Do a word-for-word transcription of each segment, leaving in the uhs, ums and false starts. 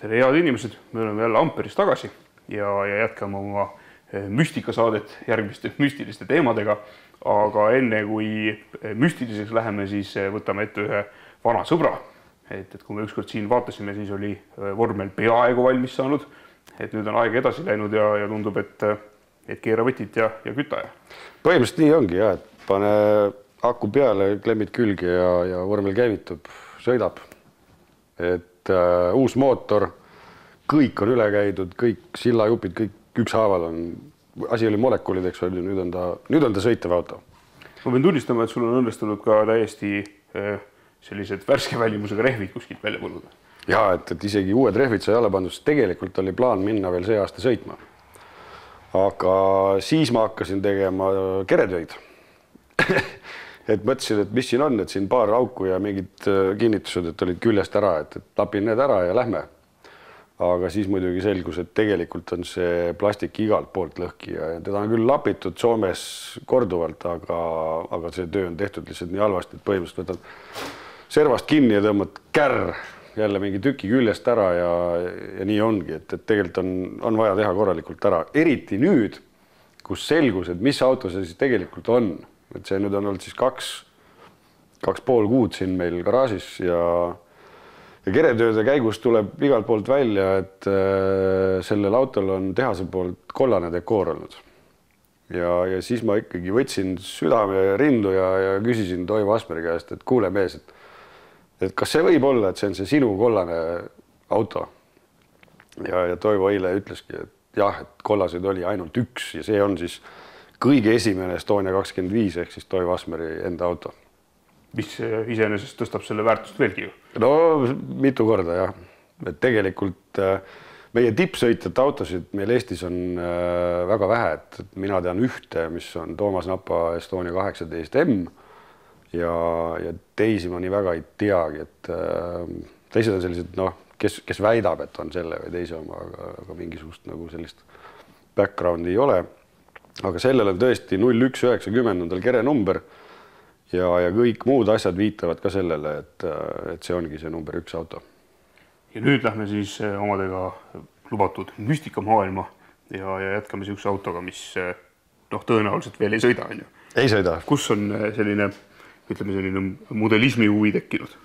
tere head inimesed, me oleme jälle Amperis tagasi ja, ja jätkame oma müstikasaadet järgmiste müstiliste teemadega. Aga enne kui müstiliseks läheme, siis võtame ette ühe vana sõbra. Et, et kui me ükskord siin vaatasime, siis oli vormel peaaegu valmis saanud. Et nüüd on aeg edasi läinud ja, ja tundub, et, et keera võtit ja, ja küta. Põhimõtteliselt nii ongi, ja, et pane aku peale, klemmid külge ja, ja vormel käivitub, sõidab. Et uh, uus mootor, kõik on üle käidud, kõik sillajupid, kõik ükshaaval on, asi oli molekulideks, nüüd on ta, nüüd on ta sõitev auto. Ma pean tunnistama, et sul on õnnestunud ka täiesti äh, sellised värske välimusega rehvid kuskilt välja põlluda. Ja, et, et isegi uued rehvid sai alla pandud, tegelikult oli plaan minna veel see aasta sõitma. Aga siis ma hakkasin tegema keretöid. Et mõtlesin, et mis siin on, et siin paar auku ja mingid kinnitused, et olid küljest ära, et, et lapin need ära ja lähme. Aga siis muidugi selgus, et tegelikult on see plastik igalt poolt lõhki ja teda on küll lapitud Soomes korduvalt, aga, aga see töö on tehtud lihtsalt nii halvasti, et põhimõtteliselt võtad servast kinni ja tõmbad kärr jälle mingi tüki küljest ära ja, ja nii ongi, et, et tegelikult on, on vaja teha korralikult ära. Eriti nüüd, kus selgus, et mis auto see siis tegelikult on. Et see nüüd on olnud siis kaks, kaks pool kuud siin meil garaažis ja, ja keretööde käigus tuleb igalt poolt välja, et äh, sellel autol on tehase poolt kollane dekoor olnud. Ja, ja siis ma ikkagi võtsin südame rindu ja, ja küsisin Toivo Asmeri käest, et kuule mees, et, et kas see võib olla, et see on see sinu kollane auto? Ja, ja Toivo eile ütleski, et jah, et kollaseid oli ainult üks ja see on siis kõige esimene Estonia kakskümmend viis ehk siis Toivo Asmeri enda auto. Mis iseenesest tõstab selle väärtust veelgi ju? No mitu korda jah. Et tegelikult meie tippsõitjate autosid meil Eestis on väga vähe, et mina tean ühte, mis on Toomas Napa Estonia kaheksateist M ja, ja teisi ma nii väga ei teagi, et teised on sellised, noh, kes, kes väidab, et on selle või teise oma, aga, aga mingisugust nagu sellist backgroundi ei ole. Aga sellel on tõesti null üks üheksakümmend on tal kere number ja, ja kõik muud asjad viitavad ka sellele, et, et see ongi see number üks auto. Ja nüüd lähme siis omadega lubatud müstikamaailma ja, ja jätkame siukse autoga, mis noh, tõenäoliselt veel ei sõida. On ju. Ei sõida. Kus on selline, ütleme selline modelismi huvi tekkinud?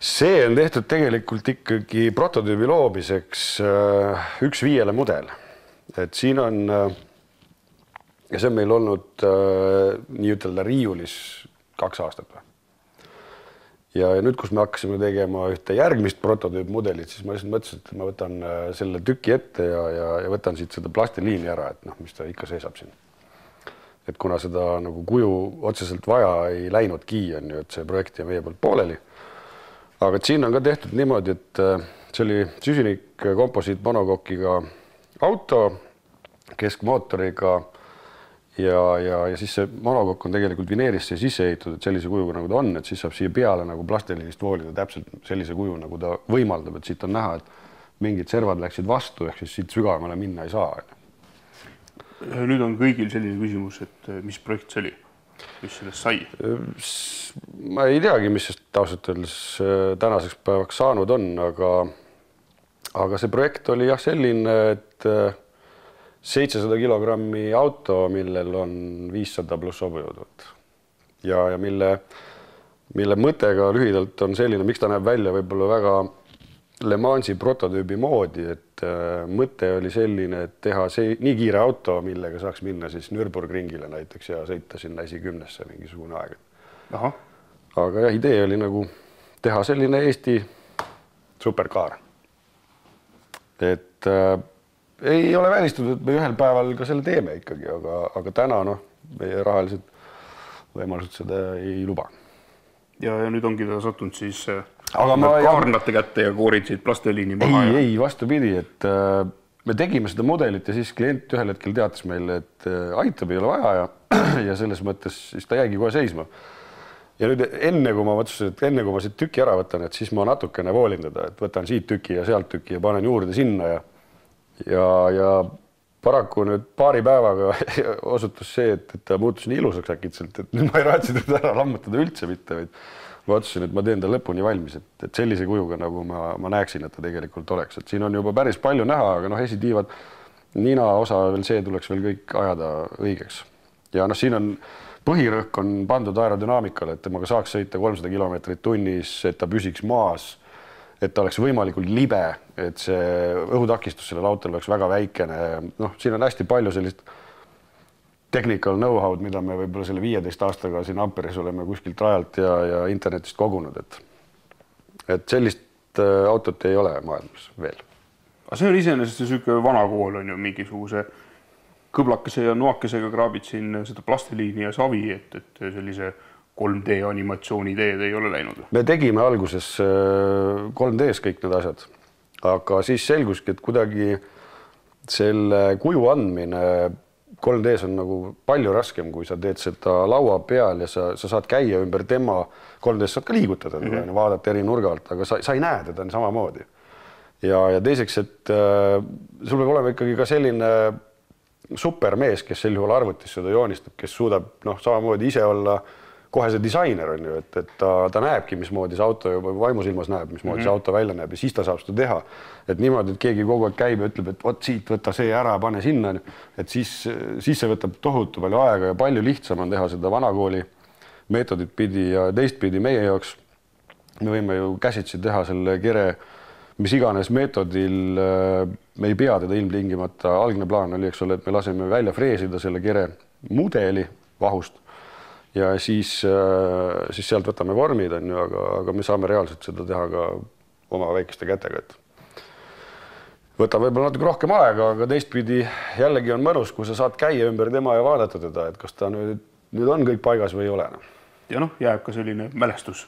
See on tehtud tegelikult ikkagi prototüübi loomiseks üks viiele mudel. Et siin on... Ja see on meil olnud äh, nii ütelda riiulis kaks aastat. Või. Ja nüüd, kus me hakkasime tegema ühte järgmist prototüüpmudelit, siis ma lihtsalt mõtlesin, et ma võtan äh, selle tüki ette ja, ja, ja võtan siit seda plastiliini ära, et noh, mis ta ikka seisab siin. Et kuna seda nagu kuju otseselt vaja ei läinudki, on ju, et see projekt ja meie poolt pooleli. Aga et siin on ka tehtud niimoodi, et äh, see oli süsinik komposiit monokokiga auto, keskmootoriga. Ja, ja, ja siis see monokokk on tegelikult vineerisse sisse ehitud, et sellise kujuga nagu ta on, et siis saab siia peale nagu plastiliinist voolida täpselt sellise kuju, nagu ta võimaldab, et siit on näha, et mingid servad läksid vastu, ehk siis siit sügavamale minna ei saa. Nüüd on kõigil selline küsimus, et mis projekt see oli? Mis sellest sai? Ma ei teagi, mis sest taustat öeldes tänaseks päevaks saanud on, aga, aga see projekt oli jah selline, et seitsesada kilogrammi auto, millel on viissada pluss hobujõudvat. Ja, ja mille, mille mõttega lühidalt on selline, miks ta näeb välja võib-olla väga Le Mansi prototüübi moodi, et äh, mõte oli selline, et teha see nii kiire auto, millega saaks minna siis Nürburgringile näiteks ja sõita sinna esi kümnesse mingisugune aeg. Aha. Aga jah, idee oli nagu teha selline Eesti superkaar. Et äh, ei ole välistatud, et me ühel päeval ka selle teeme ikkagi, aga, aga täna no, meie rahalised võimalused seda ei luba. Ja, ja nüüd ongi ta sattunud siis aga ma, kaarnate ja... kätte ja koorid siit plasteliini maha. Ei, ja... ei, vastupidi, et äh, me tegime seda mudelit ja siis klient ühel hetkel teatas meile, et äh, aitab ei ole vaja ja, ja selles mõttes siis ta jäigi kohe seisma. Ja nüüd enne, kui ma mõtlesin, et enne kui ma siit tüki ära võtan, et siis ma natukene voolin teda, et võtan siit tüki ja sealt tüki ja panen juurde sinna ja Ja, ja paraku nüüd paari päevaga osutus see, et, et ta muutus nii ilusaks äkitselt, et nüüd ma ei raatsi teda ära lammutada üldse mitte, vaid ma otsusin, et ma teen ta lõpuni valmis, et, et sellise kujuga, nagu ma, ma näeksin, et ta tegelikult oleks. Et siin on juba päris palju näha, aga noh, esitiivad nina osa veel see tuleks veel kõik ajada õigeks. Ja noh, siin on põhirõhk on pandud aerodünaamikale, et temaga saaks sõita kolmsada kilomeetrit tunnis, et ta püsiks maas, et ta oleks võimalikult libe, et see õhutakistus sellel autol oleks väga väikene. Noh, siin on hästi palju sellist technical know-how'd, mida me võib-olla selle viieteist aastaga siin Amperes oleme kuskilt rajalt ja, ja internetist kogunud, et, et sellist autot ei ole maailmas veel. Aga see on iseenesest selline vana kool on ju mingisuguse kõblakese ja noakesega kraabid siin seda plastiliini ja savi, et, et sellise kolm D animatsiooni teed ei ole läinud. Me tegime alguses kolm D's kõik need asjad, aga siis selguski, et kuidagi selle kuju andmine kolm D's on nagu palju raskem, kui sa teed seda laua peal ja sa, sa saad käia ümber tema, kolm D's saad ka liigutada, mm -hmm. vaadata eri nurga alt, aga sa, sa ei näe teda samamoodi. Ja, ja teiseks, et äh, sul peab olema ikkagi ka selline supermees, kes sel juhul arvutis seda joonistab, kes suudab noh, samamoodi ise olla kohe see disainer on ju, et, et ta, ta näebki, mismoodi see auto juba vaimusilmas näeb, mismoodi mm -hmm. see auto välja näeb ja siis ta saab seda teha. Et niimoodi, et keegi kogu aeg käib ja ütleb, et vot siit võta see ära, pane sinna, et siis, siis see võtab tohutu palju aega ja palju lihtsam on teha seda vanakooli meetodit pidi ja teistpidi meie jaoks. Me võime ju käsitsi teha selle kere mis iganes meetodil, me ei pea teda ilmtingimata, algne plaan oli, eks ole, et me laseme välja freesida selle kere mudeli vahust ja siis, siis sealt võtame vormid, on ju, aga, aga me saame reaalselt seda teha ka oma väikeste kätega. Et võtab võib-olla natuke rohkem aega, aga teistpidi jällegi on mõnus, kui sa saad käia ümber tema ja vaadata teda, et kas ta nüüd, nüüd on kõik paigas või ei ole. Ja noh, jääb ka selline mälestus.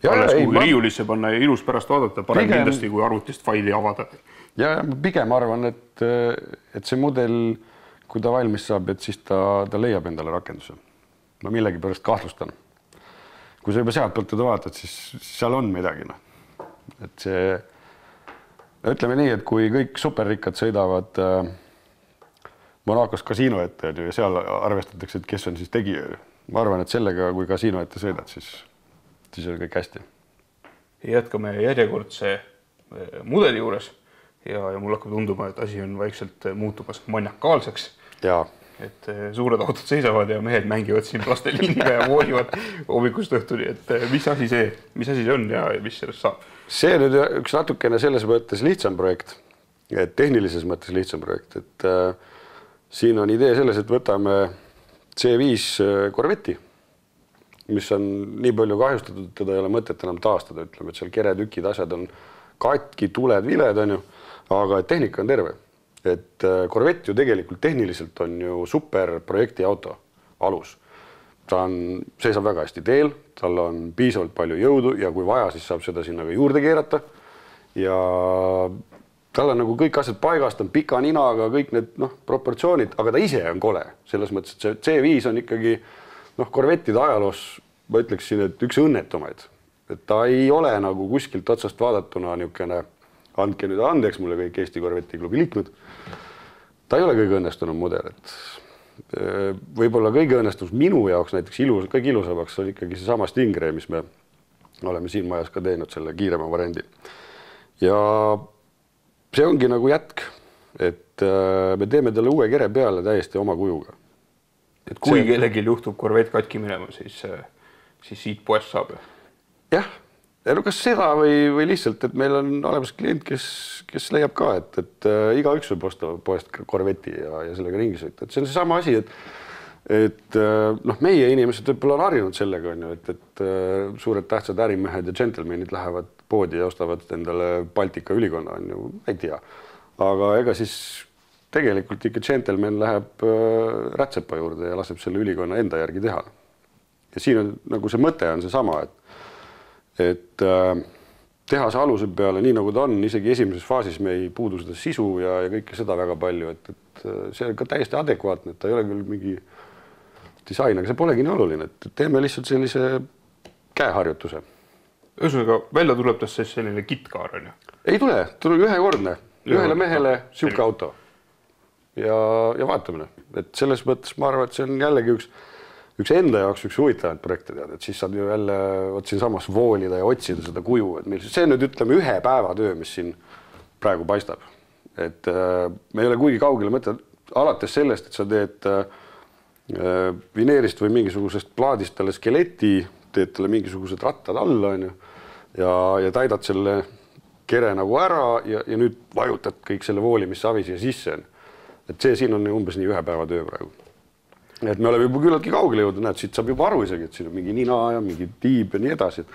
Ja, alles kui ma... riiulisse panna ja ilus pärast vaadata, parem pigem... kindlasti kui arvutist faili avada. Ja pigem arvan, et, et see mudel, kui ta valmis saab, et siis ta, ta leiab endale rakenduse. Ma millegi pärast kahtlustan. Kui sa juba sealt poolt teda vaatad, siis seal on midagi. No. Et see, ütleme nii, et kui kõik superrikkad sõidavad äh, Monacos kasiino ette ja seal arvestatakse, et kes on siis tegija. Ma arvan, et sellega, kui kasiino ette sõidad, siis siis on kõik hästi. Jätkame järjekordse mudeli juures ja, ja mul hakkab tunduma, et asi on vaikselt muutumas maniakaalseks. Ja. Et suured autod seisavad ja mehed mängivad siin plasteliiniga ja voolivad hommikust õhtuni, et mis asi see, mis asi see on ja mis sellest saab? See nüüd üks natukene selles mõttes lihtsam projekt, et tehnilises mõttes lihtsam projekt, et äh, siin on idee selles, et võtame C viis Corvetti, mis on nii palju kahjustatud, et teda ei ole mõtet enam taastada, ütleme, et seal keretükid, asjad on katki, tuled, viled, on ju, aga tehnika on terve. Et Corvette ju tegelikult tehniliselt on ju super projekti auto alus. Ta on, seisab väga hästi teel, tal on piisavalt palju jõudu ja kui vaja, siis saab seda sinna ka juurde keerata. Ja tal on nagu kõik asjad paigast, on pika ninaga, kõik need noh, proportsioonid, aga ta ise on kole. Selles mõttes, et see C viis on ikkagi noh, Corvettide ajaloos, ma ütleksin, et üks õnnetumaid. Et ta ei ole nagu kuskilt otsast vaadatuna niisugune, andke nüüd andeks mulle kõik Eesti Corvetti klubi liikmed. Ta ei ole kõige õnnestunum mudel. Et võib-olla kõige õnnestus minu jaoks näiteks ilus, kõige ilusamaks oli ikkagi see sama Stingray, mis me oleme siin majas ka teinud selle kiirema variandi. Ja see ongi nagu jätk, et me teeme talle uue kere peale täiesti oma kujuga. Et kui kellelgi juhtub Corvette katki minema, siis, siis siit poest saab. Jah, ja no kas seda või, või lihtsalt, et meil on olemas klient, kes, kes leiab ka, et, et iga üks võib osta poest Corvetti ja, ja sellega ringi sõita. Et see on see sama asi, et, et noh, meie inimesed võib-olla on harjunud sellega, on ju, et, et suured tähtsad ärimehed ja džentelmenid lähevad poodi ja ostavad endale Baltika ülikonna, on ju, ei tea. Aga ega siis tegelikult ikka džentelmen läheb rätsepa juurde ja laseb selle ülikonna enda järgi teha. Ja siin on nagu see mõte on see sama, et, et teha see aluse peale nii nagu ta on, isegi esimeses faasis me ei puudu seda sisu ja, ja kõike seda väga palju, et, et see on ka täiesti adekvaatne, et ta ei ole küll mingi disain, aga see polegi nii oluline, et teeme lihtsalt sellise käeharjutuse. Ühesõnaga, välja tuleb tast selline kitkaar, on ju? Ei tule, tuleb ühekordne, ühele mehele siuke auto. Ja, ja vaatamine, et selles mõttes ma arvan, et see on jällegi üks, üks enda jaoks üks huvitavaid projekte tead, et siis saad ju jälle vot siin samas voolida ja otsida seda kuju, et meil see nüüd ütleme ühe päeva töö, mis siin praegu paistab. Et äh, me ei ole kuigi kaugele mõte, alates sellest, et sa teed äh, vineerist või mingisugusest plaadist talle skeleti, teed talle mingisugused rattad alla on ju, ja, ja täidad selle kere nagu ära ja, ja nüüd vajutad kõik selle voolimissavi siia sisse. Et see siin on umbes nii ühe päeva töö praegu. Et me oleme juba küllaltki kaugele jõudnud, näed, siit saab juba aru isegi, et siin on mingi nina ja mingi tiib ja nii edasi.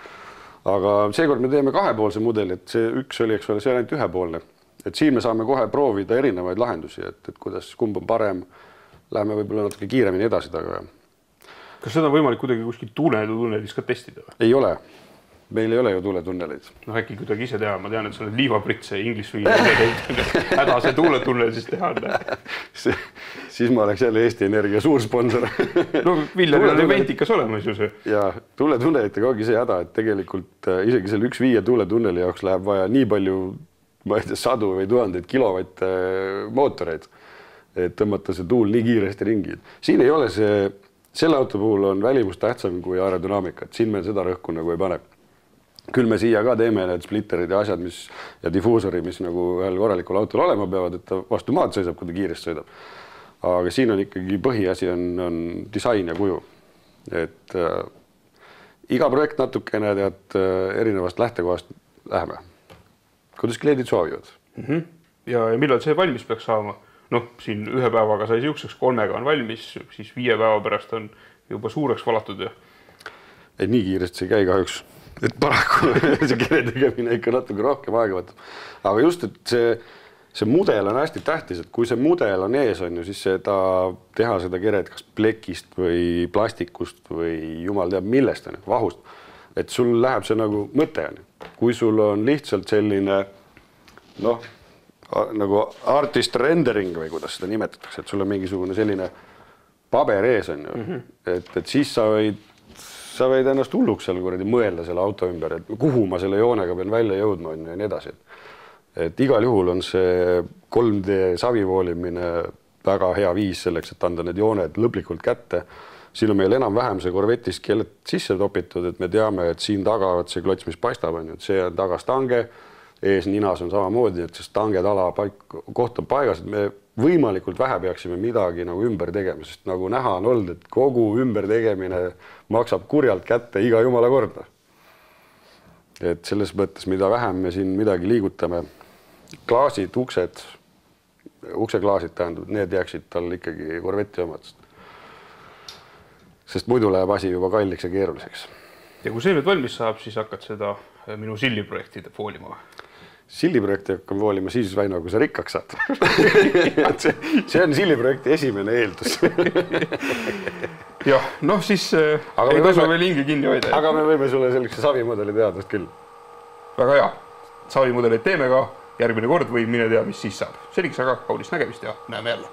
Aga seekord me teeme kahepoolse mudeli, et see üks oli, eks ole, see on ainult ühepoolne. Et siin me saame kohe proovida erinevaid lahendusi, et, et kuidas kumb on parem. Läheme võib-olla natuke kiiremini edasi taga. Kas seda on võimalik kuidagi kuskil tuuletunnelis ka testida? Või? Ei ole. Meil ei ole ju tuuletunneleid. No äkki kuidagi ise teha, ma tean, et sa oled liivapritse inglis või häda see tuuletunnel siis teha. Siis ma oleks jälle Eesti Energia suur sponsor. No Viljar on eventikas olemas ju see. Ja tuuletunnelitega ongi see häda, et tegelikult isegi selle üks viie tuuletunneli jaoks läheb vaja nii palju, ma ei tea, sadu või tuhandeid kilovatt mootoreid, et tõmmata see tuul nii kiiresti ringi. Siin ei ole see, selle auto puhul on välimus tähtsam kui aerodünaamika, et siin meil seda rõhku nagu ei pane. Küll me siia ka teeme need splitterid ja asjad, mis ja difuusori, mis nagu ühel korralikul autol olema peavad, et ta vastu maad sõidab, kui ta kiiresti sõidab. Aga siin on ikkagi põhiasi on, on disain ja kuju. Et äh, iga projekt natukene tead erinevast lähtekohast läheme. Kuidas kliendid soovivad? Mm -hmm. Ja, ja millal see valmis peaks saama? Noh, siin ühe päevaga sai siukseks, kolmega on valmis, siis viie päeva pärast on juba suureks valatud. Ja... Ei, nii kiiresti see käi kahjuks. Et paraku see kere tegemine ikka natuke rohkem aega võtab. Aga just, et see, see mudel on hästi tähtis, et kui see mudel on ees, on ju, siis seda, teha seda keret kas plekist või plastikust või jumal teab millest, on, vahust. Et sul läheb see nagu mõte on. Kui sul on lihtsalt selline, noh, nagu artist rendering või kuidas seda nimetatakse, et sul on mingisugune selline paber ees on ju, mm -hmm. et, et siis sa võid sa võid ennast hulluks seal kuradi mõelda selle auto ümber, et kuhu ma selle joonega pean välja jõudma on ja nii edasi. Et igal juhul on see kolm D savivoolimine väga hea viis selleks, et anda need jooned lõplikult kätte. Siin on meil enam-vähem see Corvette'is keeled sisse topitud, et me teame, et siin taga see klots, mis paistab, on ju, et see on taga stange, ees ninas on samamoodi, et see stange tala paik, koht on paigas, et me võimalikult vähe peaksime midagi nagu ümber tegema, sest nagu näha on olnud, et kogu ümber tegemine maksab kurjalt kätte iga jumala korda. Et selles mõttes, mida vähem me siin midagi liigutame, klaasid, uksed, ukseklaasid tähendab, need jääksid tal ikkagi Corvetti omad. Sest muidu läheb asi juba kalliks ja keeruliseks. Ja kui see nüüd valmis saab, siis hakkad seda minu silliprojektide foolima. Silliprojekti hakkam voolima siis, Väino, kui sa rikkaks saad. see, see on silliprojekti esimene eeldus. Jah, noh siis aga ei tasu veel hingi kinni hoida. Aga me võime sulle sellise savimudeli teadust küll. Väga hea. Savimudeleid teeme ka järgmine kord või mine tea, mis siis saab. Seniks aga kaunist nägemist ja näeme jälle.